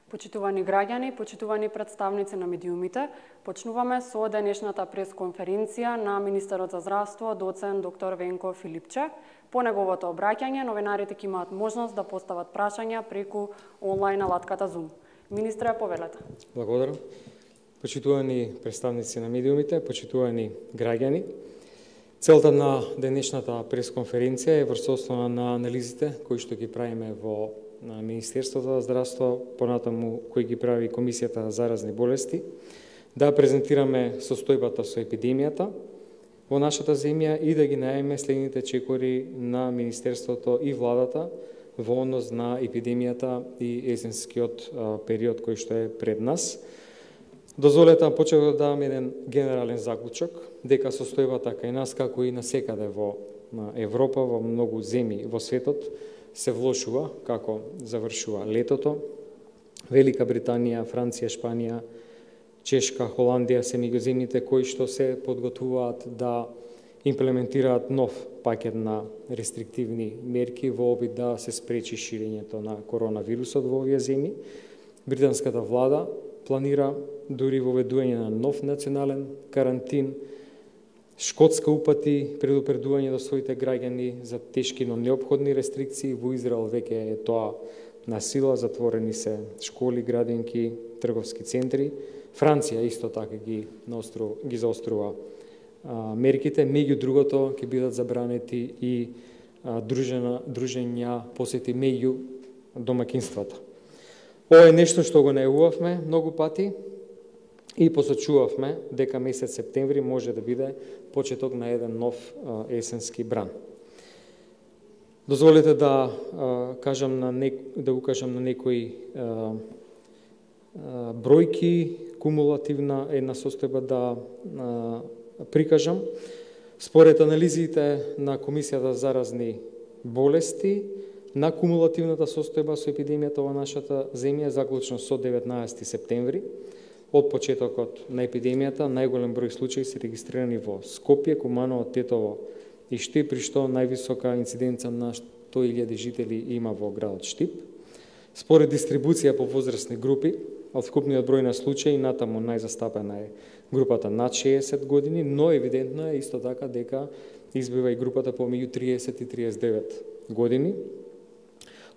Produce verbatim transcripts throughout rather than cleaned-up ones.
Почитувани граѓани, почитувани представници на медиумите, почнуваме со денешната пресконференција на министерот за здравство, доцент доктор Венко Филипче. По неговото обраќање, новинарите ќе имаат можност да постават прашања преку онлайн алатката Zoom. Министре, повелете. Благодарам. Почитувани представници на медиумите, почитувани граѓани, целта на денешната пресконференција е врз основа на анализите кои што ги правиме во на Министерството за здравство, понатаму кои ги прави Комисијата за заразни болести, да презентираме состојбата со епидемијата во нашата земја и да ги најавиме следните чекори на Министерството и владата во однос на епидемијата и есенскиот период кој што е пред нас. Дозволете да почнем да давам еден генерален заклучок дека состојбата кај нас, како и насекаде во Европа, во многу земји во светот, се влошува како завршува летото. Велика Британија, Франција, Шпанија, Чешка, Холандија се меѓу земјите кои што се подготвуваат да имплементираат нов пакет на рестриктивни мерки во обид да се спречи ширењето на коронавирусот во овие земји. Британската влада планира дури воведување на нов национален карантин. Шкотска упати предупредување до своите граѓани за тешки, но неопходни рестрикции. Во Израел веќе е тоа на сила, затворени се школи, градинки, трговски центри. Франција исто така ги наостру, ги заострува а, мерките. Меѓу другото ќе бидат забранети и а, дружена, дружења, посети меѓу домакинствата. Ова е нешто што го најавувавме многу пати и посочувавме дека месец септември може да биде почеток на еден нов а, есенски бран. Дозволете да а, кажам на нек... да укажам на некои а, а, бројки, кумулативна една состојба да а, прикажам. Според анализите на Комисијата за заразни болести, на кумулативната состојба со епидемијата во нашата земја, заклучно со деветнаесети септември, од почетокот на епидемијата, најголем број случаи се регистрирани во Скопје, Куманово, Тетово и Штип, при што највисока инциденца на сто илјади жители има во градот Штип. Според дистрибуција по возрастни групи, од вкупниот број на случаи, натаму најзастапена е групата над шеесет години, но евидентно е исто така дека избива и групата помеѓу триесет и триесет и девет години.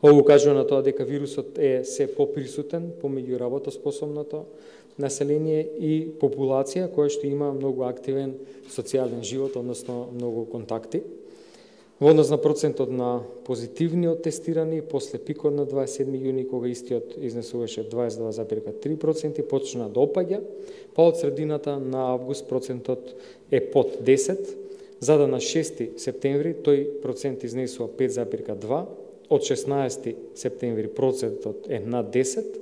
Ово укажува на тоа дека вирусот е се поприсутен помеѓу работоспособното население и популација која што има многу активен социјален живот, односно многу контакти. Во однос на процентот на позитивни од тестирани, после пикот на дваесет и седми јуни, кога истиот изнесуваше дваесет и два зарез три проценти, почна да опаѓа, па од средината на август процентот е под десет, за да на шести септември тој процент изнесува пет зарез два, од шеснаесети септември процентот е над десет,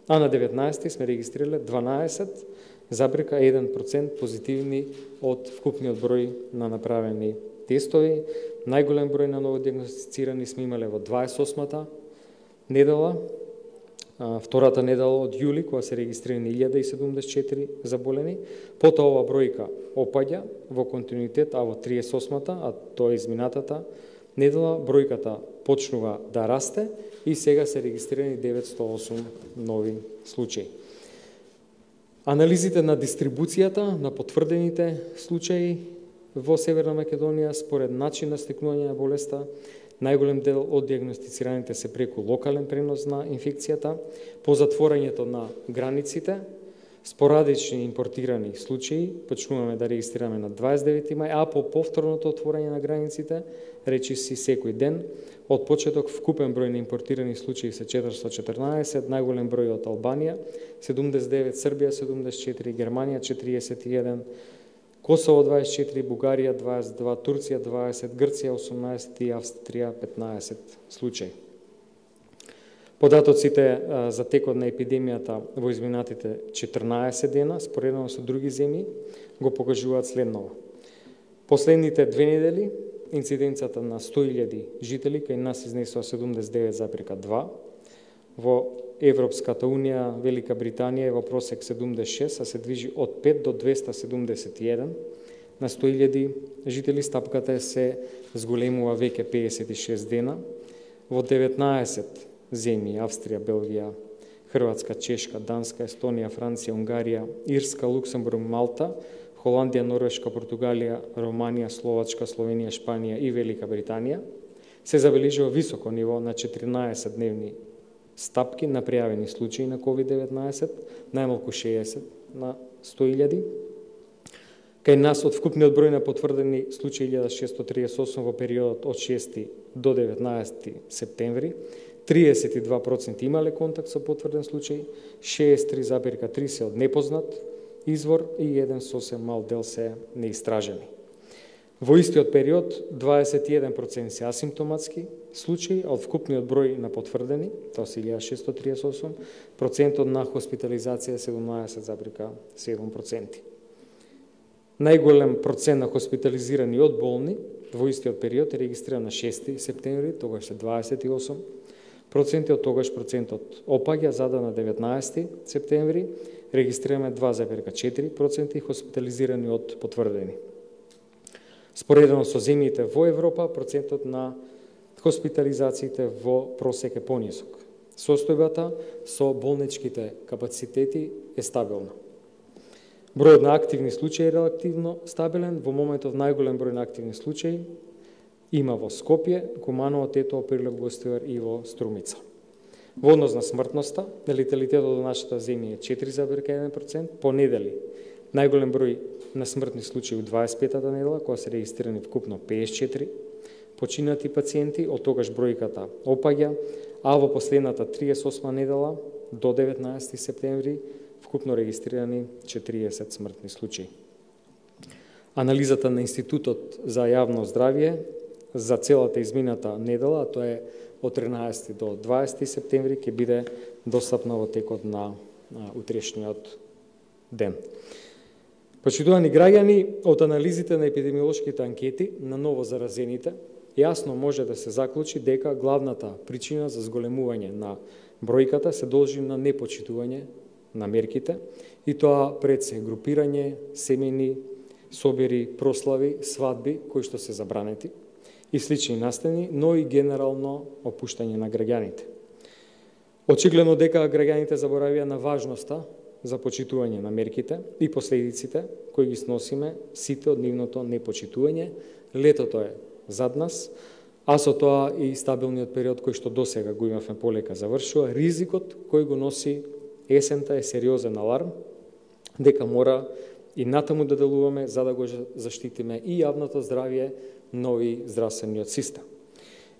а на деветнаесети сме регистрирале дванаесет зарез еден процент позитивни од вкупниот број на направени тестови. Најголем број на новодиагностицирани сме имале во дваесет и осмата недела, втората недела од јули, кога се регистрирани илјада и седумдесет и четири заболени. Потоа ова бројка опаѓа во континуитет, а во триесет и осмата, а тоа е изминатата недела, бројката почнува да расте и сега се регистрирани деветстотини и осум нови случаи. Анализите на дистрибуцијата на потврдените случаи во Северна Македонија според начин на стекнување на болеста, најголем дел од диагностицираните се преку локален пренос на инфекцијата, по затворањето на границите, спорадични импортирани случаи, почнуваме да регистрираме на дваесет и девети мај, а по повторното отворање на границите, речиси секој ден, од почеток вкупен број на импортирани случаи се четиристотини и четрнаесет, најголем број од Албанија, седумдесет и девет, Србија седумдесет и четири, Германија четириесет и еден, Косово дваесет и четири, Бугарија дваесет и два, Турција дваесет, Грција осумнаесет и Австрија петнаесет случаи. Податоците за текот на епидемијата во изминатите четрнаесет дена, споредено со други земји, го покажуваат следново. Последните две недели, инциденцията на сто илјади жители кај нас изнесува седумдесет и девет зарез два. Во Европската Унија, Велика Британија е во просек седумдесет и шест, а се движи од пет до двеста седумдесет и еден на сто илјади жители. Стапката се зголемува веќе пеесет и шест дена. Во деветнаесет земји, Австрија, Белгија, Хрватска, Чешка, Данска, Естонија, Франција, Унгарија, Ирска, Луксембург, Малта, Холандија, Норвешка, Португалија, Романија, Словачка, Словенија, Шпанија и Велика Британија, се забележува високо ниво на четиринаесет дневни стапки на пријавени случаи на ковид деветнаесет, најмалку шеесет на сто илјади. Кај нас од вкупниот број на потврдени случаи илјада шестоста триесет и осум во периодот од шести до деветнаесети септември, триесет и два проценти имале контакт со потврден случај, шеесет и три запирка три се од непознат извор и еден сосем мал дел се неистражени. Во истиот период, дваесет и еден проценти се асимптоматски случаи, а од вкупниот број на потврдени, тоа се илјада шестоста триесет и осум, процентот на хоспитализација седумнаесет запирка седум проценти. Најголем процент на хоспитализирани од болни во истиот период е регистриран на шести септември, тогаш се дваесет и осум проценти, од тогаш процентот опаѓа, зада на деветнаесети септември регистрираме два запирка четири проценти хоспитализирани од потврдени. Споредено со земјите во Европа, процентот на хоспитализациите во просек е понисок. Состојбата со болничките капацитети е стабилна. Бројот на активни случаи е релативно стабилен, во моментот најголем број на активни случаи има во Скопје, Куманово, Тетово, Прилеп, Гостивар и во Струмица. Во однос на смртноста, леталитетот во нашата земја е четири запирка еден проценти, по недели најголем број на смртни случаи у дваесет и петата недела, кога се регистрирани вкупно пеесет и четири починати пациенти, од тогаш бројката опаѓа, а во последната триесет и осма недела до деветнаесети септември вкупно регистрирани четириесет смртни случаи. Анализата на Институтот за јавно здравје за целата измината недела, а тоа е од тринаесети до дваесети септември, ќе биде достапна во текот на утрешниот ден. Почитувани граѓани, од анализите на епидемиолошките анкети на ново заразените, јасно може да се заклучи дека главната причина за зголемување на бројката се должи на непочитување на мерките, и тоа пред се групирање, семејни собери, прослави, свадби, кои што се забранети, и слични настани, но и генерално опуштање на граѓаните. Очигледно дека граѓаните заборавија на важноста за почитување на мерките и последиците кои ги сносиме сите од нивното непочитување. Летото е зад нас, а со тоа и стабилниот период кој што досега го имавме полека завршува. Ризикот кој го носи есента е сериозен аларм, дека мора и натаму да делуваме за да го заштитиме и јавното здравје, но и здравствениот систем.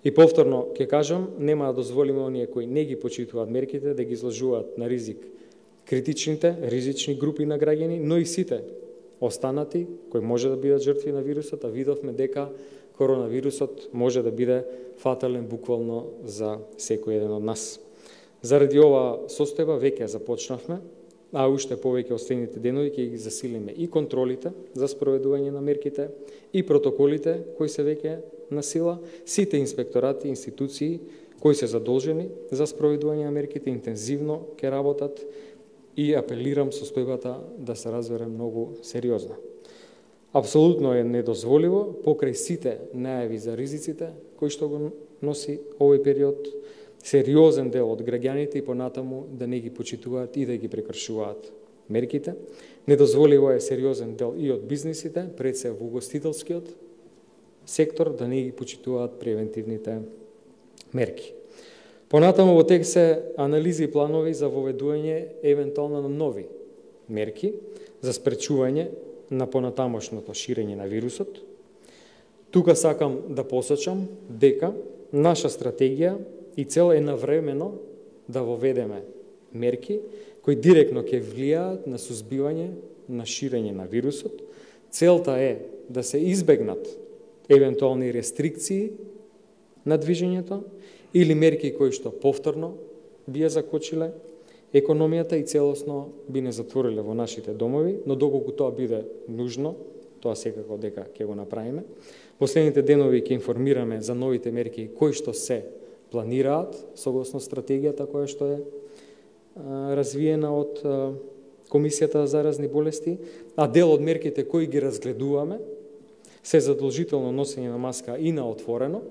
И повторно ќе кажам, нема да дозволиме оние кои не ги почитуваат мерките да ги изложуваат на ризик критичните, ризични групи на граѓани, но и сите останати кои може да бидат жртви на вирусот, а видовме дека коронавирусот може да биде фатален буквално за секој еден од нас. Заради ова состојба веќе започнавме, а уште повеќе остените денови ќе ги засилиме и контролите за спроведување на мерките и протоколите кои се веќе на сила, сите инспекторати, институции кои се задолжени за спроведување на мерките интензивно ќе работат и апелирам состојбата да се разбере многу сериозно. Апсолутно е недозволиво покрај сите најави за ризиците кои што го носи овој период, сериозен дел од граѓаните и понатаму да не ги почитуваат и да ги прекршуваат мерките. Недозволиво е сериозен дел и од бизнисите, пред се во угостителскиот сектор, да не ги почитуваат превентивните мерки. Понатаму во тек се анализи и планови за воведување евентуално на нови мерки за спречување на понатамошното ширење на вирусот. Тука сакам да посочам дека наша стратегија и цел е навремено да воведеме мерки кои директно ќе влијаат на сузбивање на ширење на вирусот. Целта е да се избегнат евентуални рестрикции на движењето или мерки кои што повторно би ја закочиле економијата и целосно би не затвориле во нашите домови, но доколку тоа биде нужно, тоа секако дека ќе го направиме. Последните денови ќе информираме за новите мерки кои што се планираат согласно стратегијата која што е а, развиена од а, Комисијата за заразни болести, а дел од мерките кои ги разгледуваме се задолжително носење на маска и на отворено,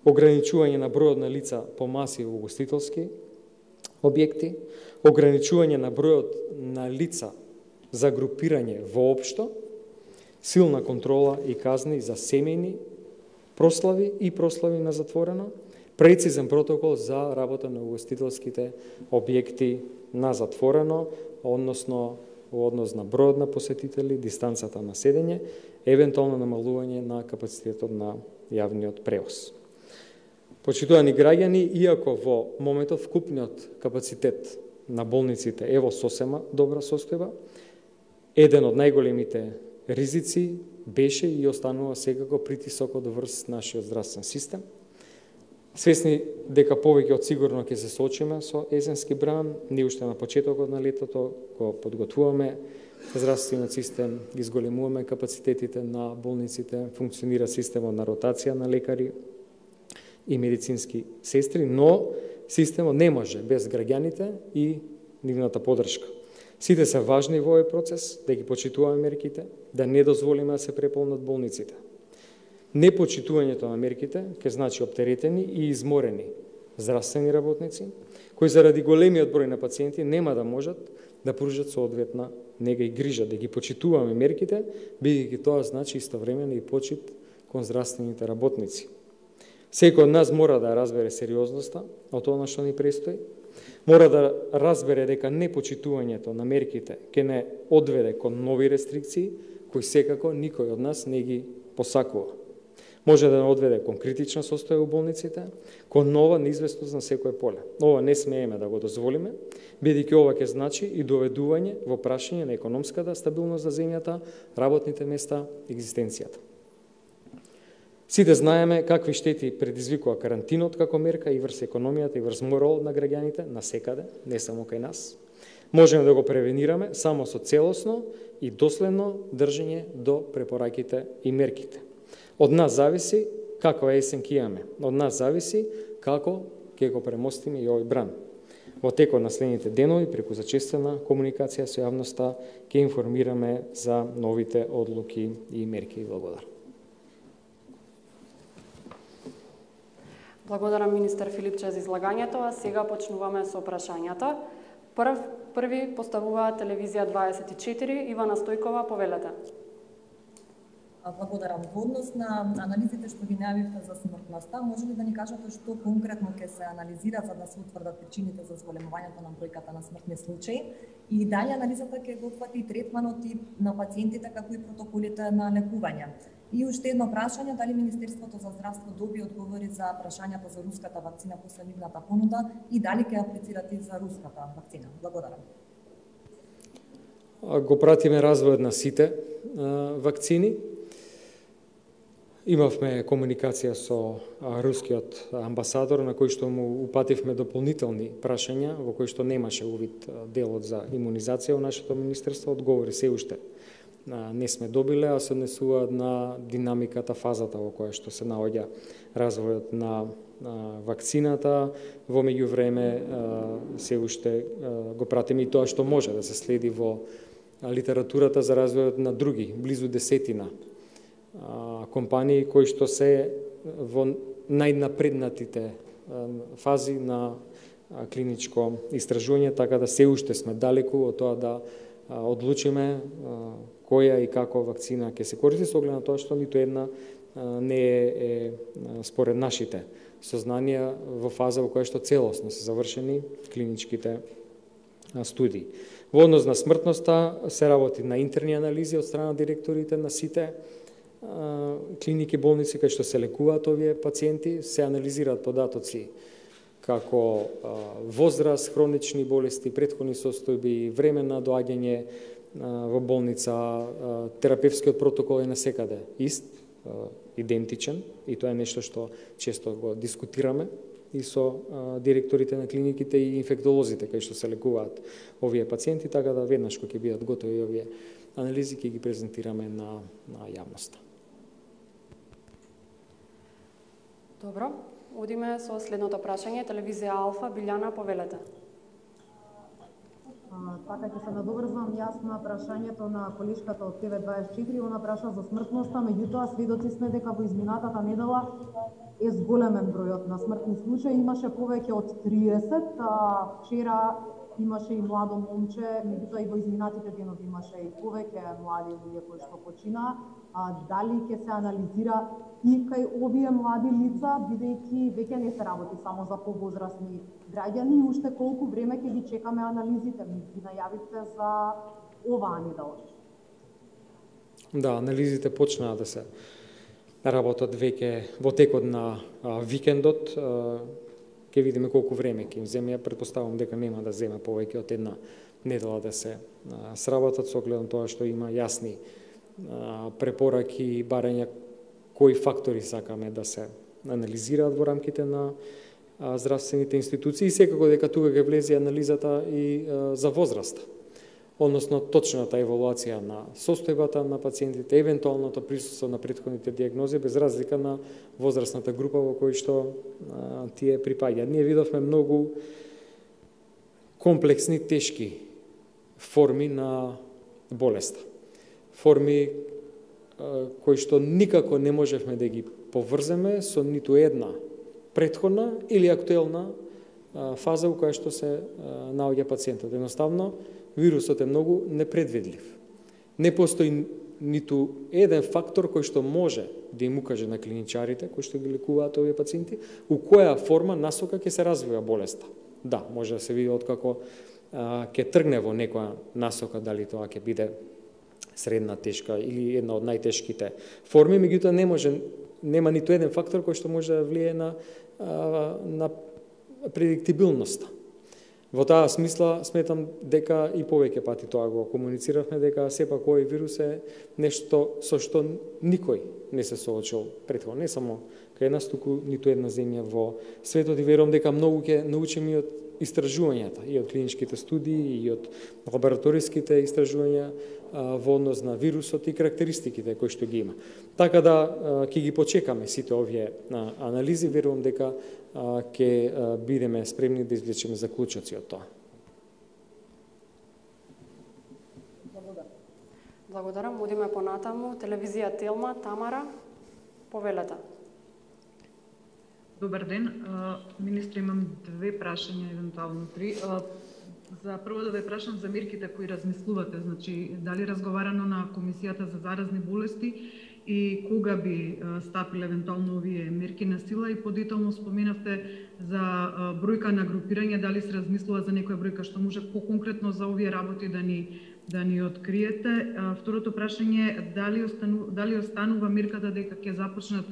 ограничување на бројот на лица по маси во угостителски објекти, ограничување на бројот на лица за групирање воопшто, силна контрола и казни за семејни прослави и прослави на затворено, прецизен протокол за работа на угостителските објекти на затворено, односно во однос на бројот на посетители, дистанцата на седење, евентуално намалување на капацитетот на јавниот превоз. Почитувани граѓани, иако во моментов вкупниот капацитет на болниците е во сосема добра состојба, еден од најголемите ризици беше и останува секако притисокот врз нашиот здравствен систем. Свесни дека повеќе од сигурно ќе се соочиме со есенски бран, ние уште на почетокот на летото го подготвуваме здравствениот систем, ги зголемуваме капацитетите на болниците, функционира системот на ротација на лекари и медицински сестри, но системот не може без граѓаните и нивната поддршка. Сите се важни во овој процес, да ги почитуваме мерките, да не дозволиме да се преполнат болниците. Непочитувањето на мерките ќе значи оптеретени и изморени здравствени работници, кои заради големиот број на пациенти нема да можат да пружат соодветна нега и грижа. Да ги почитуваме мерките, бидејќи тоа значи истовремено и почит кон здравствените работници. Секој од нас мора да разбере сериозноста од тоа што ни престои, мора да разбере дека непочитувањето на мерките ќе не одведе кон нови рестрикции, кои секако никој од нас не ги посакува. Може да не одведе кон критична состојба у болниците, кон нова неизвестност на секое поле. Ова не смееме да го дозволиме, бидејќи ова ќе значи и доведување во прашање на економската стабилност за земјата, работните места, екзистенцијата. Сите знаеме какви штети предизвикува карантинот како мерка и врз економијата и врз моралот на граѓаните насекаде, не само кај нас. Можеме да го превенираме само со целосно и доследно држење до препораките и мерките. Од нас зависи каква есен ќе имаме. Од нас зависи како ќе го премостиме и овој бран. Во текот на следните денови, преку зачестена комуникација со јавноста, ќе информираме за новите одлуки и мерки. Благодарам. Благодарам министер Филипче за излагањето, а сега почнуваме со прашањата. Прв, први поставува телевизија дваесет и четири, Ивана Стојкова, повелете. Благодарам. Во однос на анализите што ги најавивте за смртноста, може ли да ни кажете што конкретно ќе се анализира за да се утврдат причините за зголемувањето на бројката на смртни случаи и дали анализата ќе го опфати и третманот и на пациентите како и протоколите на лекување? И уште едно прашање, дали Министерството за здравство доби одговори за прашањата за руската вакцина после нивната понуда и дали ќе аплицирате и за руската вакцина? Благодарам. Го пратиме развојот на сите вакцини. Имавме комуникација со рускиот амбасадор, на кој што му упативме дополнителни прашања, во кој што немаше увид делот за имунизација во нашето министерство. Одговори се уште не сме добиле, а се однесуваат на динамиката, фазата во која што се наоѓа развојот на вакцината. Во меѓувреме се уште го пратиме и тоа што може да се следи во литературата за развојот на други, близу десетина компании кои што се во најнапреднатите фази на клиничко истражување, така да се уште сме далеку од тоа да одлучиме која и како вакцина ќе се користи, со оглед на тоа што ниту една не е според нашите сознанија во фаза во која што целосно се завршени клиничките студии. Во однос на смртноста се работи на интерни анализи од страна директорите на сите клиники, болници кај што се лекуваат овие пациенти, се анализираат податоци како возраст, хронични болести, претходни состојби, време на доаѓање во болница, терапевскиот протокол е насекаде ист, идентичен, и тоа е нешто што често го дискутираме и со директорите на клиниките и инфектолозите кај што се лекуваат овие пациенти, така да веднаш кога ќе бидат готови овие анализи ќе ги презентираме на, на јавноста. Добро, одиме со следното прашање. Телевизија Алфа, Билјана, повелете. Така ќе се надоврзам јас на прашањето на колешката од Т В дваесет и четири, она праша за смртноста, меѓутоа сведоци сме дека во изминатата недела е зголемен бројот на смртни случаи, имаше повеќе од триесет, а вчера имаше и младо момче, меѓутоа и во изминатите денови имаше и повеќе млади луѓе кои што починаа. А дали ќе се анализира и кај овие млади лица, бидејќи веќе не се работи само за повозрасни граѓани, и уште колку време ќе ги чекаме анализите? Ги најавивте за оваа недела. Да, анализите почнаа да се работат веќе во текот на а, викендот. А, ќе видиме колку време ќе им земе. Ја претпоставувам дека нема да земе повеќе од една недела да се а, сработат, со оглед на тоа што има јасни а, препораки и барања кои фактори сакаме да се анализираат во рамките на а, здравствените институции, и секако дека тука ќе влезе анализата и а, за возраста, односно точната евалуација на состојбата на пациентите, евентуалното присуство на претходните диагнози, без разлика на возрастната група во кој што а, тие припаѓаат. Ние видовме многу комплексни, тешки форми на болеста. Форми а, кои што никако не можевме да ги поврземе со ниту една претходна или актуелна а, фаза во која што се а, наоѓа пациентот. Едноставно, вирусот е многу непредвидлив. Не постои ниту еден фактор кој што може да им укаже на клиничарите, кои што ги лекуваат овие пациенти, у која форма, насока ќе се развива болеста. Да, може да се види откако а, ќе тргне во некоја насока, дали тоа ќе биде средна, тешка или една од најтешките форми, меѓутоа не може, нема ниту еден фактор кој што може да влие на, а, на предиктибилноста. Во таа смисла сметам дека и повеќе пати тоа го комунициравме, дека сепак овој вирус е нешто со што никој не се соочил претходно, не само кај нас, туку ниту една земја во светот, и верувам дека многу ќе научиме и од истражувањата, и од клиничките студии, и од лабораториските истражувања а, во однос на вирусот и карактеристиките кои што ги има. Така да ќе ги почекаме сите овие а, анализи, верувам дека ќе бидеме спремни да извлечеме заклучоци од тоа. Благодарам. Благодарам. Одиме понатаму. Телевизија Телма, Тамара, повелете. Добар ден. Министре, имам две прашања, евентуално три. За прво да ве прашам за мерките кои размислувате, значи дали разговарано на Комисијата за заразни болести и кога би стапиле евентуално овие мерки на сила, и подетално споменавте за бројка на групирање, дали се размислува за некоја бројка што може поконкретно за овие работи да ни да ни откриете. Второто прашање е дали останува, дали останува мерката дека ќе започнат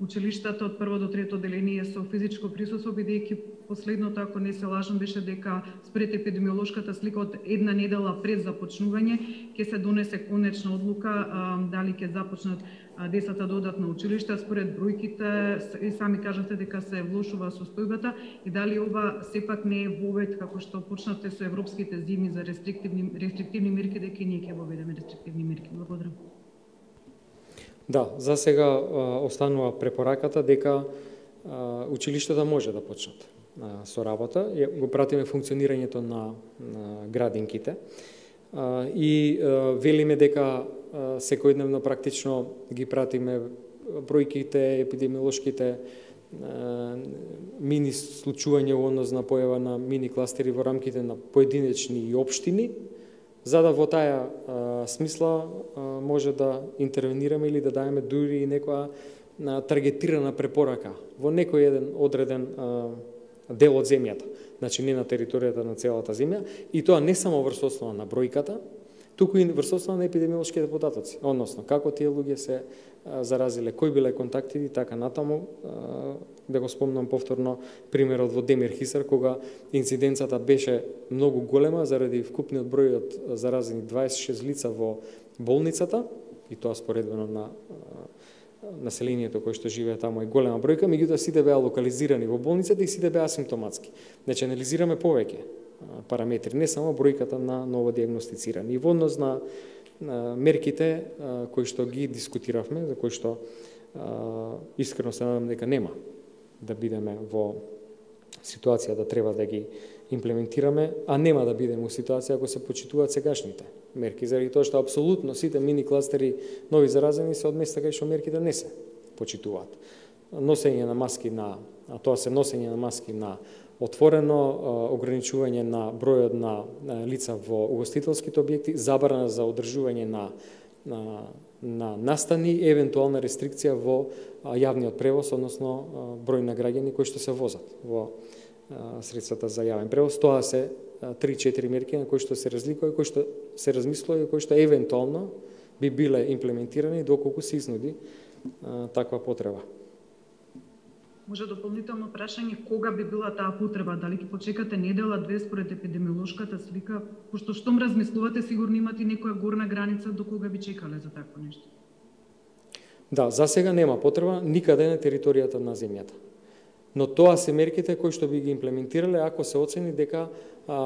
училиштата од прво до трето деление со физичко присуство, бидејќи последното, ако не се лажам, беше дека според епидемиолошката слика од една недела пред започнување ќе се донесе конечна одлука а, дали ќе започнат а, децата да одат на училиште. Според бројките и сами кажате дека се влошува состојбата, и дали ова сепак не е вовед како што почнате со европските зими за рестриктивни рестриктивни мерки, дека и ние ќе воведеме рестриктивни мерки. Благодарам. Да, за сега а, останува препораката дека а, училиштата може да почнат а, со работа. Го пратиме функционирањето на, на градинките а, и а, велиме дека а, секојдневно практично ги пратиме бројките, епидемиолошките а, мини случувања во однос на појава на мини кластери во рамките на поединечни општини, за да во таа а, смисла а, може да интервенираме или да даеме дури и некоја а, таргетирана препорака во некој еден одреден а, дел од земјата, значи не на територијата на целата земја, и тоа не само врз основа на бројката, туку и врз основа на епидемиолошките податоци, односно како тие луѓе се а, заразиле, кои биле контактите и така натаму. А, да го спомнам повторно примерот во Демир Хисар, кога инциденцата беше многу голема заради вкупниот број од заразени дваесет и шест лица во болницата, и тоа споредбено на населението кој што живее таму е голема бројка, меѓутоа сите беа локализирани во болницата и сите беа асимптоматски. Значи анализираме повеќе параметри, не само бројката на новодиагностицирани. И во однос на мерките кои што ги дискутиравме, за кои што искрено се надам дека нема да бидеме во ситуација да треба да ги имплементираме, а нема да бидеме у ситуација ако се почитуваат сегашните мерки, заради тоа што апсолутно сите мини кластери нови заразени се од места кај што мерките не се почитуваат. Носење на маски на, а тоа се носење на маски на отворено, ограничување на бројот на лица во угостителските објекти, забрана за одржување на на, на настани, евентуална рестрикција во јавниот превоз, односно број на граѓани кои што се возат во средствата за јавен превоз. Тоа се три-четири мерки на кои што се разликува, кои што се размислува и кои што евентуално би биле имплементирани доколку се изнуди а, таква потреба. Може дополнително прашање, кога би била таа потреба? Дали ќе почекате недела, две според епидемиолошката слика? Пошто штом размислувате, сигурно имате некоја горна граница до кога би чекале за такво нешто? Да, за сега нема потреба никаде на територијата на земјата. Но тоа се мерките кои што би ги имплементирале ако се оцени дека а,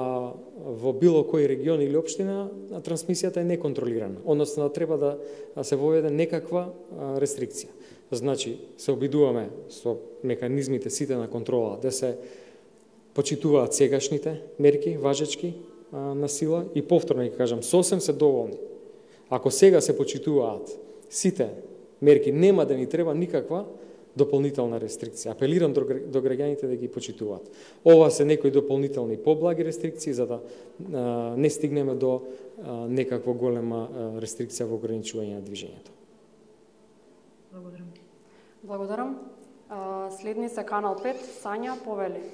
во било кој регион или општина а, трансмисијата е неконтролирана, односно треба да се воведе некаква а, рестрикција. Значи, се обидуваме со механизмите сите на контрола да се почитуваат сегашните мерки, важечки а, на сила и повторно ќе кажам, сосем се доволни. Ако сега се почитуваат сите мерки, нема да ни треба никаква дополнителна рестрикција. Апелирам до, до граѓаните да ги почитуваат. Ова се некои дополнителни поблаги рестрикции за да а, не стигнеме до а, некаква голема а, рестрикција во ограничување на движењето. Благодарам. Благодарам. А, следни се Канал пет, Сања Повели.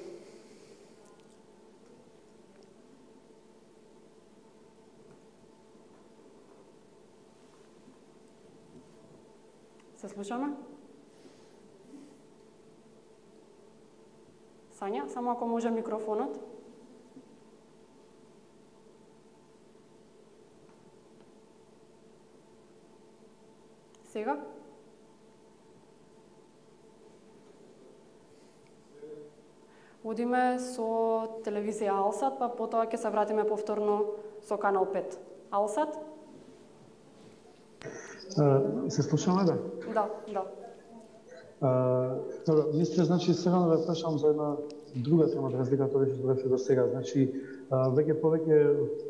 Се слушаме? Сања, само ако може микрофонот. Сега? Одиме со телевизија Алсат, па потоа ќе се вратиме повторно со Канал пет. Алсат? Uh, се слушаме, да? Да, да. Uh, добро, мисле, значи, сега да ве прашам за една друга тема, разлика тоа што зборевте до сега. Значи, uh, веќе повеќе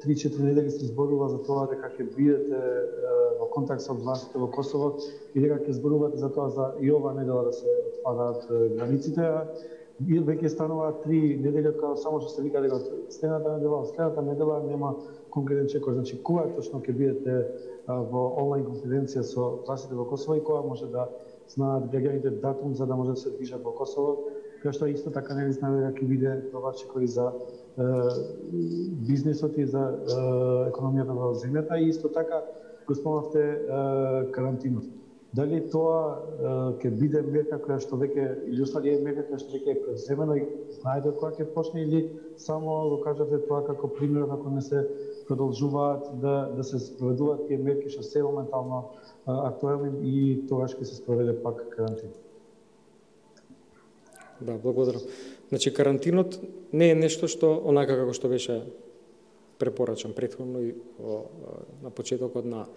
три-четири недели се зборува за тоа дека ќе бидете uh, во контакт со властите во Косово и дека ќе зборувате за тоа за и ова недела да се отвараат uh, границите. И веќе станува три недели од кога само што се вика дека следната недела, следната недела нема конкретен чекор. Значи, кога точно ќе бидете uh, во онлайн конференција со властите во Косово и кога може да знаат граѓаните датум за да може да се движат во Косово, која што исто така не знае дека ќе биде това чекори за е, бизнисот и за е, економијата во земјата и исто така го спомнавте е, карантинот. Дали тоа ќе биде мерка која што веќе или останува мерка која што веќе е преземена и знаете кога ќе почне или само го кажате тоа како пример како не се продолжуваат да да се спроведуваат тие мерки што се моментално актуелни и тогаш ќе се спроведе пак карантин. Да, благодарам. Значи карантинот не е нешто што онака како што беше препорачан претходно и о, на почетокот на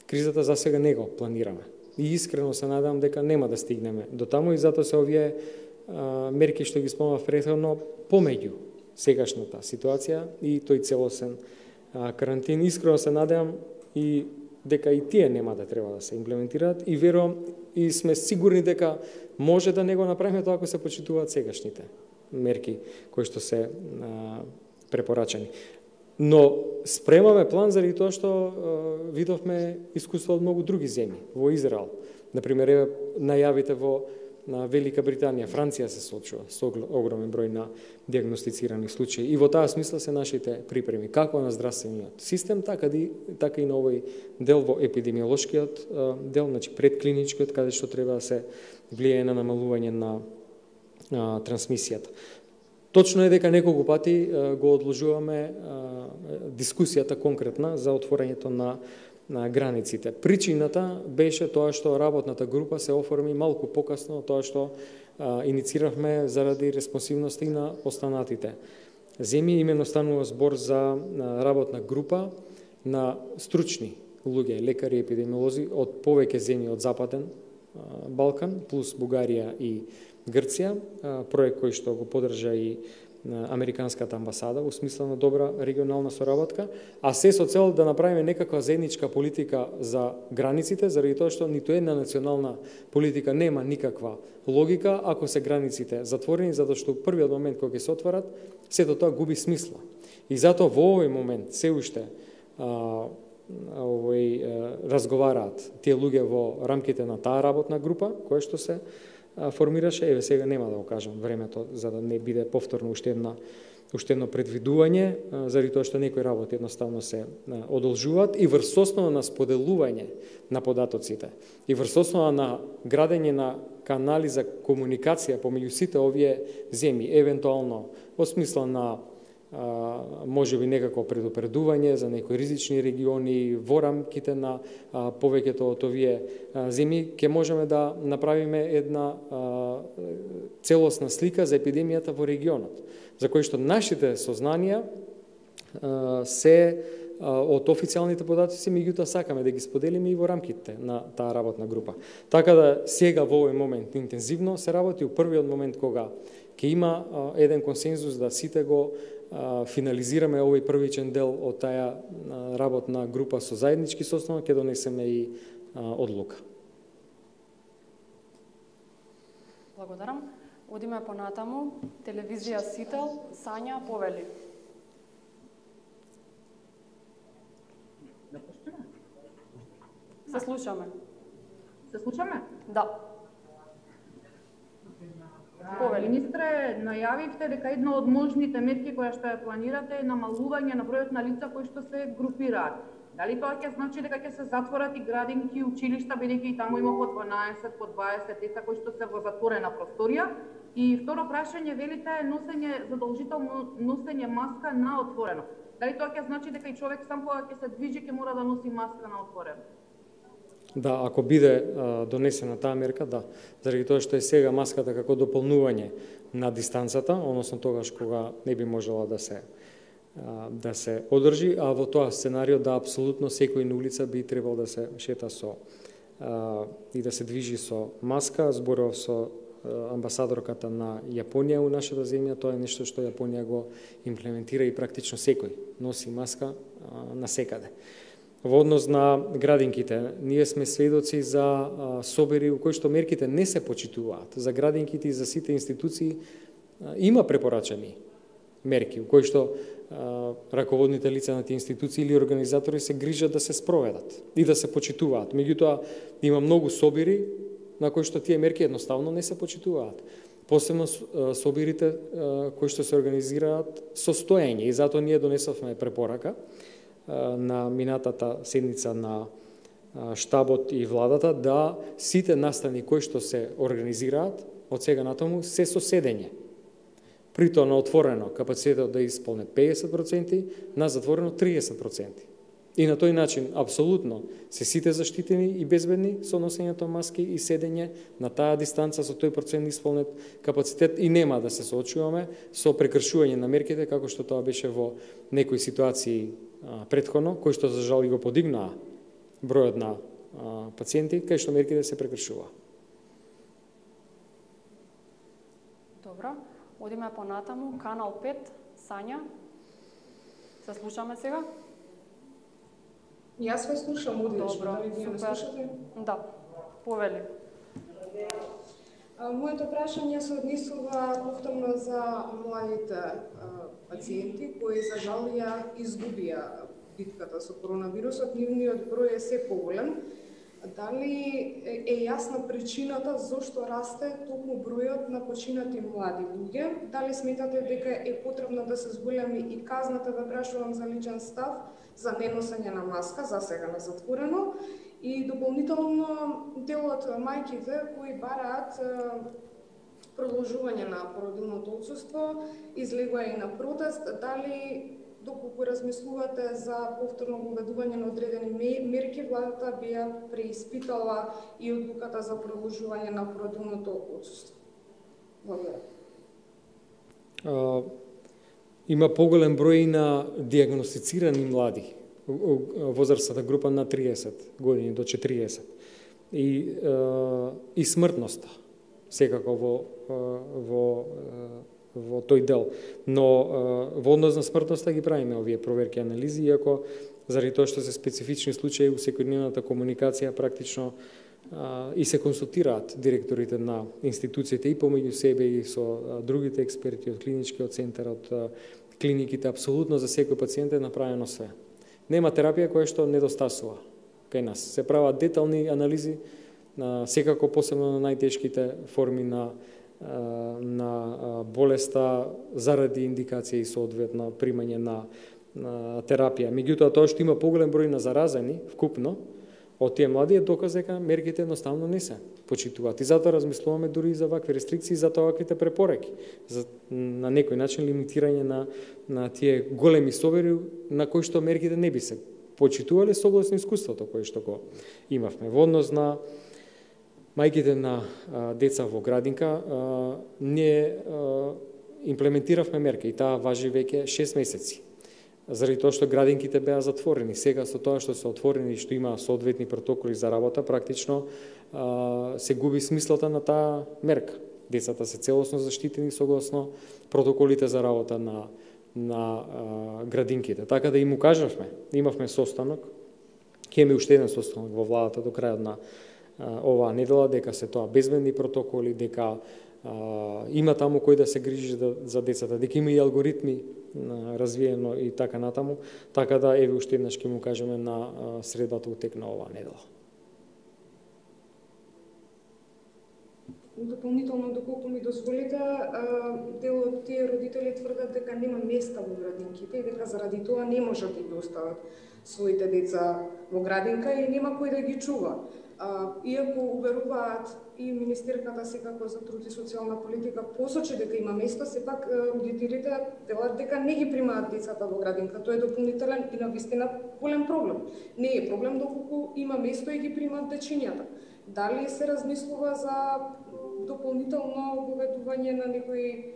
кризата, за сега не го планираме. И искрено се надевам дека нема да стигнеме до таму и затоа се овие а, мерки што ги спомнав претходно помеѓу сегашната ситуација и тој целосен а, карантин. Искрено се надевам и дека и тие нема да треба да се имплементираат и верувам и сме сигурни дека може да не го направиме тоа ако се почитуваат сегашните мерки кои што се а, препорачани. Но спремаме план заради тоа што а, видовме искуство од многу други земји, во Израел. Например, најавите во на Велика Британија, Франција се соочува со огромен број на диагностицирани случаи. И во таа смисла се нашите припреми, како на здравствениот систем, така и, така и на овој дел во епидемиолошкиот дел, значи предклиничкиот, каде што треба да се влијае на намалување на а, трансмисијата. Точно е дека неколку пати а, го одложуваме а, дискусијата конкретна за отворањето на на границите. Причината беше тоа што работната група се оформи малку покасно од тоа што а, иницииравме заради респонсивноста и на останатите земји. Имено станува збор за а, работна група на стручни луѓе, лекари, епидемиолози од повеќе земји од Западен а, Балкан, плюс Бугарија и Грција, а, проект кој што го поддржа и Американската амбасада во смисла на добра регионална соработка, а се со цел да направиме некаква заедничка политика за границите, заради тоа што ниту една национална политика нема никаква логика ако се границите затворени, затоа што првиот момент кога ќе се отворат, сето тоа губи смисла. И затоа во овој момент се уште а, овој разговараат тие луѓе во рамките на таа работна група која што се формираше. Еве сега нема да го кажам времето за да не биде повторно уште една уште едно предвидување, заради тоа што некои работи едноставно се одолжуваат и врз основа на споделување на податоците и врз основа на градење на канали за комуникација помеѓу сите овие земји, евентуално во смисла на може би некако предупредување за некои ризични региони во рамките на а, повеќето од овие а, земји, ќе можеме да направиме една а, целосна слика за епидемијата во регионот, за кој што нашите сознанија а, се а, од официјалните податоци, меѓутоа сакаме да ги споделиме и во рамките на таа работна група. Така да сега во овој момент интензивно се работи, у првиот момент кога ќе има а, еден консензус да сите го финализираме овој првичен дел од таа работна група со заеднички состанок, ќе донесеме и одлука. Благодарам. Одиме понатаму. Телевизија Сител, Сања Повели. Да пуштиме? Се слушаме. Се слушаме? Да. Повели. Министре, најавивте дека една од можните мерки која што ја планирате е намалување на бројот на лица кои што се групираат. Дали тоа ќе значи дека ќе се затворат и градинки, училишта, бидејќи и таму има по дванаесет, по дваесет деца кои што се во затворена просторија? И второ прашање, велите носење, задолжително носење маска на отворено. Дали тоа ќе значи дека и човек сам кога ќе се движи ќе мора да носи маска на отворено? Да, ако биде а, донесена таа мерка, да. Заради тоа што е сега маската како дополнување на дистанцата, односно тогаш кога не би можела да се а, да се одржи, а во тоа сценарио да апсолутно секој на улица би требал да се шета со а, и да се движи со маска. Зборував со а, амбасадорката на Јапонија у нашата земја, тоа е нешто што Јапонија го имплементира и практично секој носи маска а, насекаде. Во однос на градинките, ние сме сведоци за а, собери у кои што мерките не се почитуваат. За градинките и за сите институции а, има препорачани мерки, у кои што а, раководните лица на тие институции или организатори се грижат да се спроведат и да се почитуваат. Меѓутоа, има многу собери на кои што тие мерки едноставно не се почитуваат. Посебно собирите а, кои што се организираат со стоење, и затоа ние донесовме препорака на минатата седница на штабот и владата да сите настани кои што се организираат од сега натаму се со седење. При тоа на отворено капацитетот да исполне педесет проценти, на затворено триесет проценти. И на тој начин апсолутно се сите заштитени и безбедни со носењето маски и седење на таа дистанца со тој процент исполнет капацитет и нема да се соочуваме со прекршување на мерките како што тоа беше во некои ситуации а, претходно, кои што за жал го подигнаа бројот на а, пациенти, кај што мерките се прекршуваа. Добро, одиме понатаму, канал пет, Сања. Се слушаме сега? Јас ве слушам одлично. Добро, дали вие ме слушате? Да, Повели. Моето прашање се однесува повторно за младите пациенти кои за жал ја изгубија битката со коронавирусот. Нивниот број е се поголем. Дали е јасна причината зошто расте токму бројот на починати млади луѓе? Дали сметате дека е потребно да се зголеми и казната, да прашувам за личен став, за неносење на маска, за сега на затворено, и дополнително делот мајките кои бараат продолжување на породилното отсуство, излегува и на протест, дали доколку размислувате за повторно воведување на одредени мерки, владата би ја преиспитала и одлуката за продолжување на породилното отсуство? Благодарам. Има поголем број на диагностицирани млади, возрастната група на триесет години до четириесет. И, и смртноста, секако во, во во тој дел. Но во однос на смртноста ги правиме овие проверки и анализи, иако заради тоа што се специфични случаи у секојдневната комуникација практично и се консултираат директорите на институциите и помеѓу себе и со другите експерти од клиничкиот центар, од клиниките, апсолутно за секој пациент е направено све. Нема терапија која што недостасува кај нас. Се прават детални анализи, секако посебно на најтешките форми на на болеста заради индикација и соодветно примање на, на терапија. Меѓутоа, тоа што има поголем број на заразени вкупно од тие млади е доказ дека мерките едноставно не се почитуваат. И затоа размислуваме дури и за вакви рестрикции, за ваквите препораки, за на некој начин лимитирање на на тие големи совери на кои што мерките не би се почитувале согласно искуството кое што го имавме. Во однос на мајките на а, деца во градинка, а, ние а, имплементиравме мерка и таа важи веќе шест месеци. Заради тоа што градинките беа затворени. Сега со тоа што се отворени и што има соодветни протоколи за работа, практично а, се губи смислата на таа мерка. Децата се целосно заштитени согласно протоколите за работа на на а, градинките. Така да им укажавме, имавме состанок, ќе имаме уште еден состанок во владата до крајот на оваа недела, дека се тоа безбедни протоколи, дека а, има таму кој да се грижи да, за децата, дека има и алгоритми а, развиено и така натаму, така да еве уште еднаш ќе му кажеме на а, средата утек на оваа недела. Дополнително, доколку ми дозволите, дел од тие родители тврдат дека нема места во градинките и дека заради тоа не можат да ги остават своите деца во градинка и нема кој да ги чува. Иако уверуваат и Министерката секако за труд и социјална политика посочи дека има место, сепак родителите велат дека не ги примаат децата во градинка. Тоа е дополнителен и навистина голем проблем. Не е проблем доколку има место и ги примаат дечињата. Дали се размислува за дополнително воведување на некои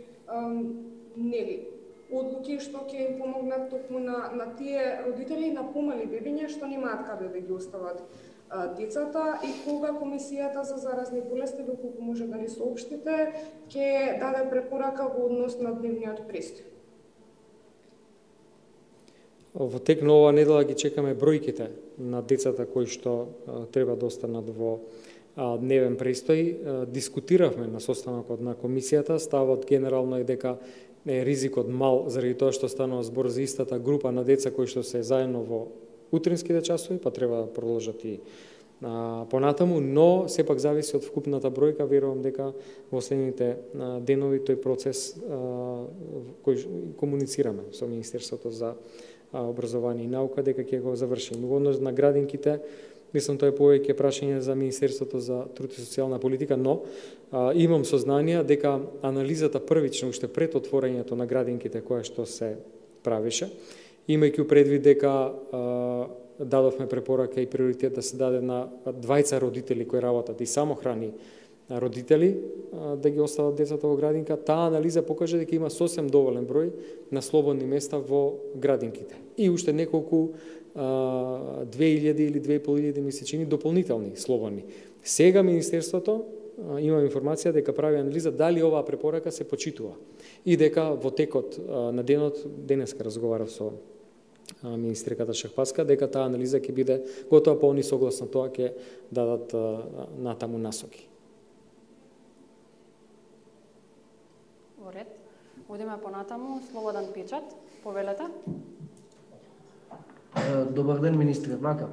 нели одлуки што ќе им помогнат токму на, на тие родители и на помали бебиња што немаат каде да ги остават а, децата, и кога Комисијата за заразни болести, доколку може да ни соопштите, ќе даде препорака во однос на дневниот престој? Во тек на оваа недела ги чекаме бројките на децата кои што а, треба да останат во а, дневен престој. А, дискутиравме на состанокот на комисијата, ставот генерално е дека е ризикот мал заради тоа што станува збор за истата група на деца кои што се заедно во утринските часови, па треба да продолжат и а, понатаму, но сепак зависи од вкупната бројка. Верувам дека во следните а, денови тој процес а, кој комуницираме со Министерството за образование и наука дека ќе го завршиме. Во однос на градинките, мислам тоа е повеќе прашање за Министерството за труд и социјална политика, но а, имам сознание дека анализата првично уште пред отворањето на градинките која што се правише, имајќи предвид дека а, дадовме препорака и приоритет да се даде на двајца родители кои работат и самохрани родители да ги остават децата во градинка, таа анализа покажа дека има сосем доволен број на слободни места во градинките. И уште неколку две илјади или две и пол илјади месечини дополнителни слободни. Сега Министерството има информација дека прави анализа дали оваа препорака се почитува и дека во текот на денот, денеска разговарав со министерката Шахпаска, дека таа анализа ќе биде готова, па они согласно тоа ќе дадат натаму насоки. Во ред. Одиме понатаму. Слободан печат. Повелете. Добар ден, министре. Вака.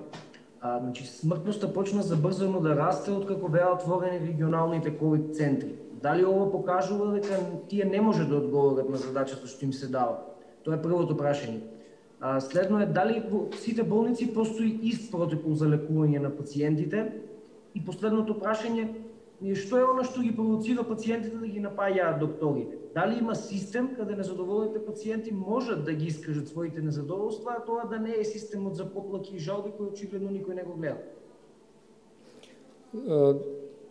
А, значи, смртноста почна забрзано да расте откако беа отворени регионалните ковид центри. Дали ова покажува дека тие не може да одговорат на задачата што им се дава? Тоа е првото прашање. А, следно е дали во сите болници постои ист протокол за лекување на пациентите? И последното прашање е што е она што ги провоцира пациентите да ги напаѓаат докторите? Дали има систем каде незадоволните пациенти можат да ги искажат своите незадоволства, а тоа да не е системот за поплаки и жалби кој очигледно никој не го гледа?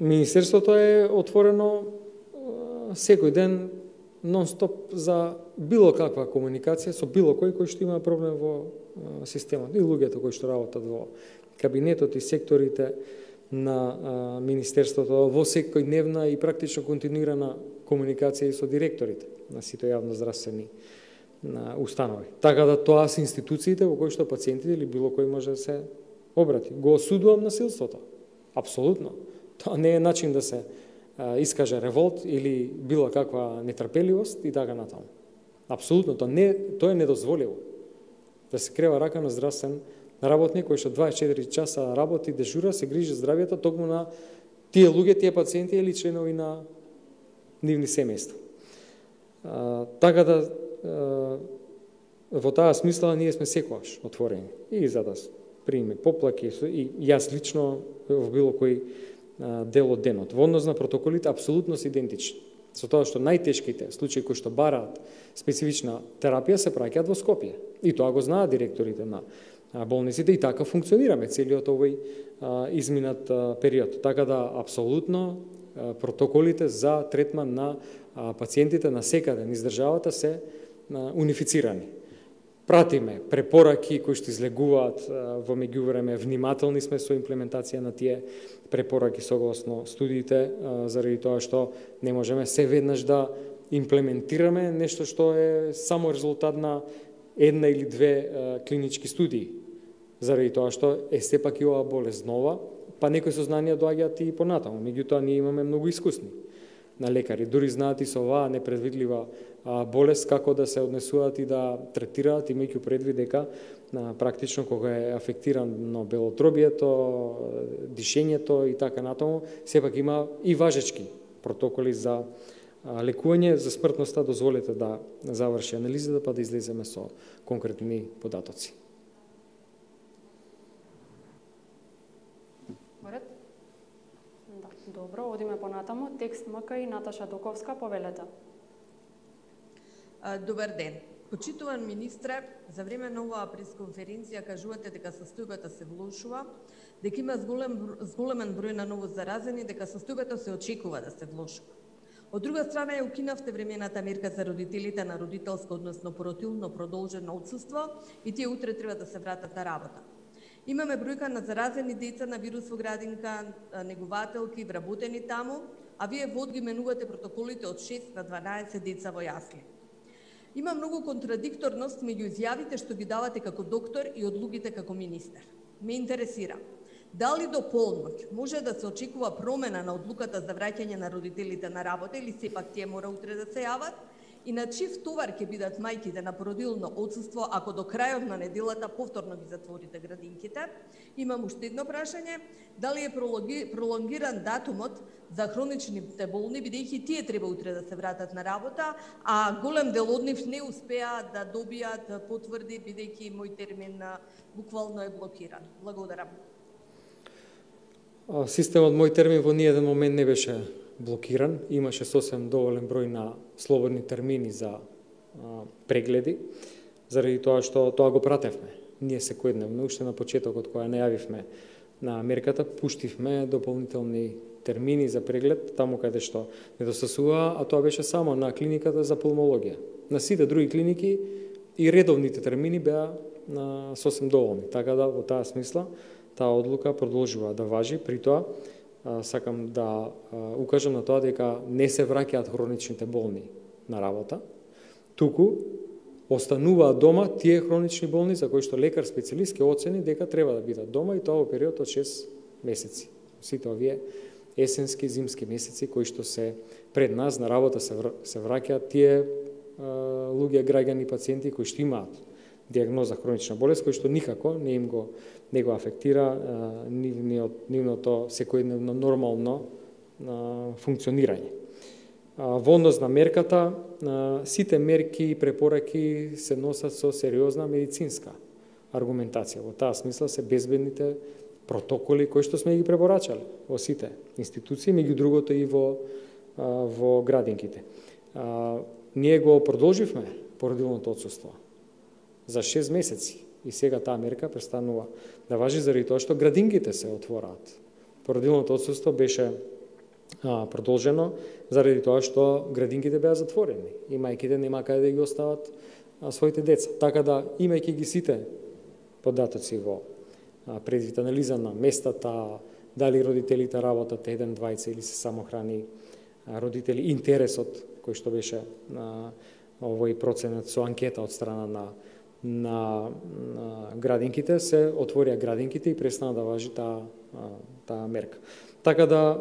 Министерството е отворено секој ден нон-стоп за било каква комуникација со било кој кој што има проблем во системот. И луѓето кои што работат во кабинетот и секторите на а, Министерството во секојдневна и практично континуирана комуникација и со директорите на сите јавноздравствени установи. Така да тоа се институциите во кои што пациентите или било кој може да се обрати. Го осудувам насилството. Апсолутно. Тоа не е начин да се искаже револт или било каква нетрпеливост и така натаму. Апсолутно, тоа не тоа е недозволиво. Да се крева рака на здравствен работник кој што дваесет и четири часа работи, дежура, се грижи здравјето токму на тие луѓе, тие пациенти или членови на нивни семејства. Така да а, во таа смисла ние сме секогаш отворени и за да приме поплаки и јас лично во било кој а, дел од денот. Во однос на протоколите апсолутно се идентични. Со тоа што најтешките случаи кои што бараат специфична терапија се праќаат во Скопје. И тоа го знаат директорите на болниците и така функционираме целиот овој а, изминат а, период. Така да апсолутно а, протоколите за третман на а, пациентите на секаде низ државата се а, унифицирани. Пратиме препораки кои што излегуваат а, во меѓувреме, внимателни сме со имплементација на тие препораки согласно студиите, а, заради тоа што не можеме се веднаш да имплементираме нешто што е само резултат на една или две а, клинички студии, заради тоа што е сепак и ова болест нова, па некои сознанија доаѓаат и понатаму. Меѓутоа ние имаме многу искусни на лекари, дури знаат и со оваа непредвидлива а, болест како да се однесуваат и да третираат, имајќи предвид дека а, практично кога е афектирано белотробието, дишењето и така натаму, сепак има и важечки протоколи за лекување. За смртноста дозволете да заврши анализата па да излеземе со конкретни податоци. Да, добро, одиме понатаму. Текст МК и Наташа Доковска, повелете. Добар ден. Почитуван министре, за време на оваа пресконференција кажувате дека состојбата се влошува, дека има зголем, зголемен број на новозаразени, дека состојбата се очекува да се влошува. Од друга страна ја укинавте времената мерка за родителите на родителско, односно породилно продолжено отсуство и тие утре треба да се вратат на работа. Имаме бројка на заразени деца на вирус во градинка, негователки, вработени таму, а вие вод ги менувате протоколите од шест на дванаесет деца во јасли. Има многу контрадикторност меѓу изјавите што ги давате како доктор и одлуките како министер. Ме интересира, дали до полноќ може да се очекува промена на одлуката за враќање на родителите на работа или сепак тие мора утре да се јават? И на чив товар ќе бидат мајките на породилно отсуство ако до крајот на неделата повторно ги затворите градинките? Имам уште едно прашање, дали е пролонгиран датумот за хроничните болни, бидејќи тие треба утре да се вратат на работа, а голем дел од нив не успеа да добијат потврди, бидејќи мој термин буквално е блокиран. Благодарам. Системот мој термин во ниеден момент не беше блокиран, имаше сосем доволен број на слободни термини за а, прегледи, заради тоа што тоа го пратевме. Ние секојдневно, уште на почетокот кога најавивме на мерката, пуштивме дополнителни термини за преглед, таму каде што недостасува, а тоа беше само на клиниката за пулмологија. На сите други клиники и редовните термини беа на сосем доволни, така да во таа смисла таа одлука продолжува да важи. При тоа сакам да укажам на тоа дека не се враќаат хроничните болни на работа, туку остануваат дома тие хронични болни за кои што лекар специјалист ќе оцени дека треба да бидат дома и тоа во период од шест месеци. Сите овие есенски, зимски месеци кои што се пред нас на работа се се враќаат тие луѓе, граѓани, пациенти кои што имаат диагноза хронична болест, кој што никако не им го не го афектира нивниот, нивното секојдневно нормално а, функционирање. А, во однос на мерката, а, сите мерки и препораки се носат со сериозна медицинска аргументација. Во таа смисла се безбедните протоколи кои што сме ги препорачале во сите институции, меѓу другото и во, а, во градинките. А, ние го продолживме породилното отсуство за шест месеци. И сега таа мерка престанува да важи заради тоа што градинките се отвораат. Породилното отсуство беше а, продолжено заради тоа што градинките беа затворени и мајките нема каде да ги остават а, своите деца. Така да, имајќи ги сите податоци во а, предвид анализа на местата, дали родителите работат еден, двајца или се самохрани родители, интересот кој што беше на овој проценат со анкета од страна на на, на градинките, се отворија градинките и престана да важи таа таа мерка. Така да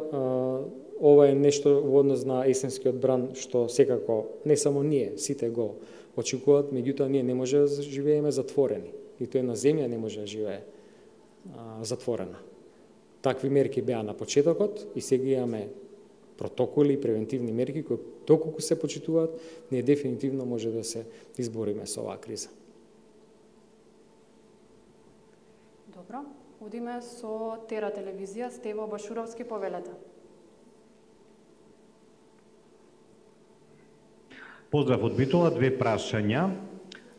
ова е нешто во однос на есенскиот бран што секако не само ние, сите го очекуваат, меѓутоа ние не може да живееме затворени. Ниту една земја не може да живее а, затворена. Такви мерки беа на почетокот и сега имаме протоколи и превентивни мерки кои доколку се почитуваат, ние дефинитивно може да се избориме со оваа криза. Добро, одиме со Тера телевизија, Стево Башуровски, повелете. Поздрав од Битола, две прашања.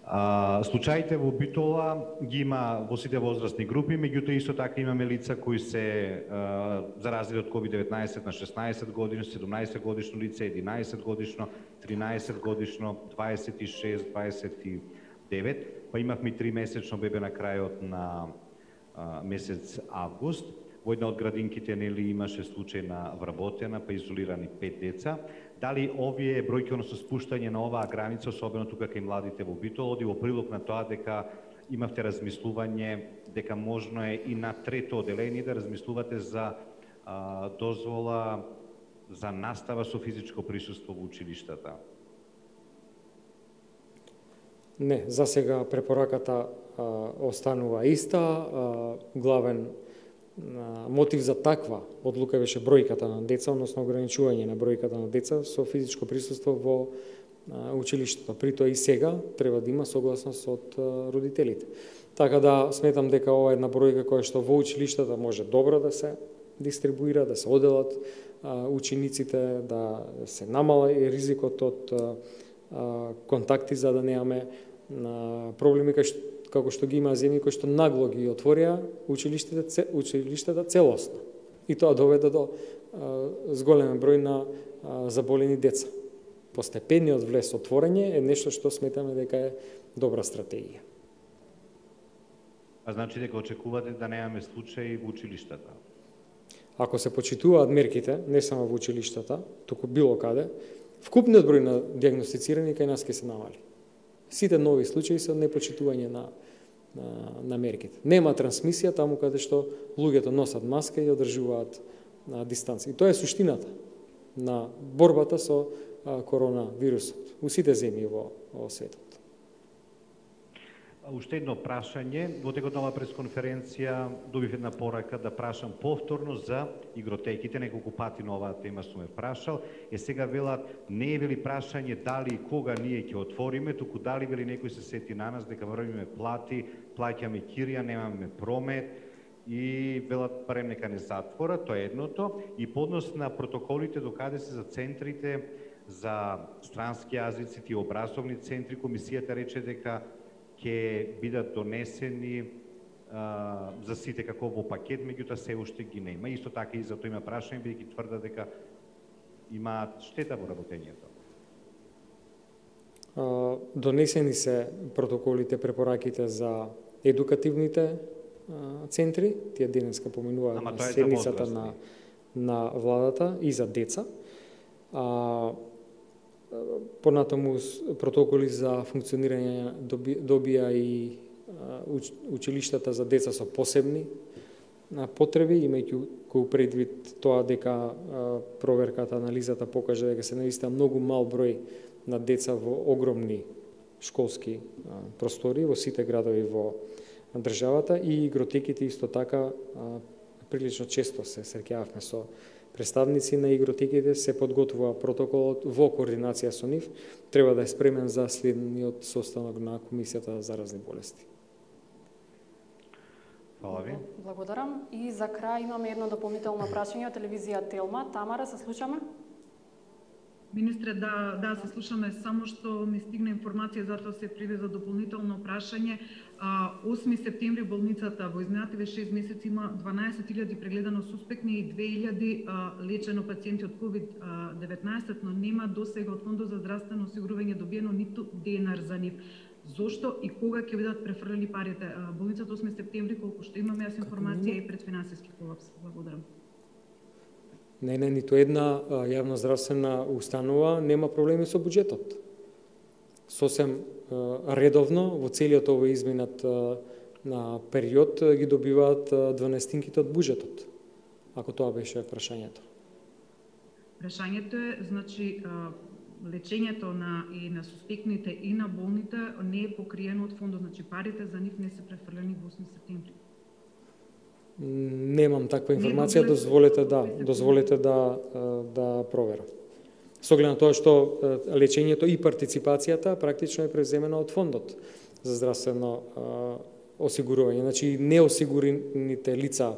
А, случаите во Битола ги има во сите возрастни групи, меѓутоа исто така имаме лица кои се а, заразили од ковид деветнаесет на шеснаесет годишно, седумнаесет годишно лице, единаесет годишно, тринаесет годишно, дваесет и шест, дваесет и девет, па имавме три месечно бебе на крајот на а, месец август. Во една од градинките нели имаше случај на вработена, па изолирани пет деца. Дали овие бројки, односно спуштање на оваа граница, особено тука кај младите во Битола, оди во прилог на тоа дека имавте размислување дека можно е и на трето оделение да размислувате за а, дозвола за настава со физичко присуство во училиштата? Не, за сега препораката а, останува иста. А, главен мотив за таква одлука беше бројката на деца, односно ограничување на бројката на деца со физичко присуство во училиштето. При тоа и сега треба да има согласност од родителите. Така да сметам дека ова е една бројка која што во училиштата може добро да се дистрибуира, да се оделат учениците, да се намала и ризикот од контакти за да немаме проблеми кај што како што ги има земји кои што нагло ги отворија училиштата, училиштата целосно. И тоа доведе до а, зголемен број на а, заболени деца. Постепениот влез отворање е нешто што сметаме дека е добра стратегија. А значи дека очекувате да немаме случаи во училиштата? Ако се почитуваат мерките, не само во училиштата, туку било каде, вкупниот број на диагностицирани кај нас ќе се намали. Сите нови случаи се непочитување на, на, на мерките. Нема трансмисија таму каде што луѓето носат маска и одржуваат на дистанција. И тоа е суштината на борбата со а, коронавирусот у сите земји во, во светот. Уште едно прашање, во текот на оваа пресконференција добив една порака да прашам повторно за игротеките, неколку пати на оваа тема сум ме прашал, е сега велат не е вели прашање дали и кога ние ќе отвориме, туку дали вели некој се сети на нас дека врвиме плати, плаќаме кирија, немаме промет и велат барем нека не затвора, тоа е едното, и поднос на протоколите докаде се за центрите за странски јазици, тие образовни центри, комисијата рече дека ќе бидат донесени а, за сите како во пакет, меѓутоа се уште ги нема. Исто така и за тоа има прашање, бидејќи тврда дека имаат штета во работењето. А, донесени се протоколите, препораките за едукативните а, центри, тие денеска поминуваат на седницата на, на владата и за деца. А, Понатаму протоколи за функционирање добија и училиштата за деца со посебни потреби, имајќи кој предвид тоа дека проверката, анализата покажа дека се наистина многу мал број на деца во огромни школски простори во сите градови во државата, и игротеките исто така прилично често се среќававме со представници на игротеките, се подготвува протоколот во координација со нив, треба да е спремен за следниот состанок на Комисијата за заразни болести. Фала ви. Благодарам. И за крај имаме едно дополнително прашање од телевизија Телма. Тамара, се слушаме? Министре, да, да, се слушаме, само што ми стигна информација, затоа се привеза дополнително прашање. осми септември болницата во изминативе шест месеци има дванаесет илјади прегледано суспектни и две илјади лечено пациенти од ковид деветнаесет, но нема досега од Фондот за здравствено осигурување добиено ниту денар за нив. Зошто и кога ќе бидат префрлени парите? Болницата осми септември, колку што имаме јас информација, е пред финансиски колапс. Благодарам. Не, не, ниту една јавна здравствена установа нема проблеми со буџетот. Сосем редовно во целиот овој изминат на период ги добиваат дванаестинките од буџетот, ако тоа беше прашањето. Прашањето е, значи, лечењето на и на суспектните и на болните не е покриено од фондот, значи парите за нив не се префрлени во осми септември. Немам таква информација, дозволете да, дозволете да да проверам. Со оглед на тоа што лечењето и партиципацијата практично е превземена од фондот за здравствено осигурување. Значи неосигурените лица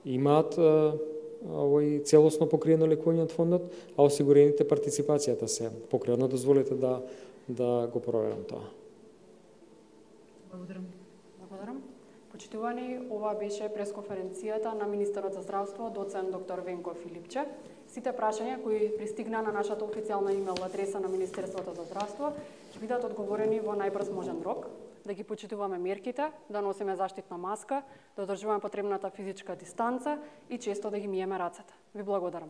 имаат овој целосно покриено лекување од фондот, а осигурените партиципацијата се покриено. Дозволете да да го проверам тоа. Благодарам. Благодарам. Почитувани, ова беше пресконференцијата на министерот за здравство, доцент доктор Венко Филипче. Сите прашања кои пристигна на нашата официјална имейл адреса на Министерството за здравство ќе бидат одговорени во најбрз можен рок. Да ги почитуваме мерките, да носиме заштитна маска, да одржуваме потребната физичка дистанца и често да ги миеме рацете. Ви благодарам.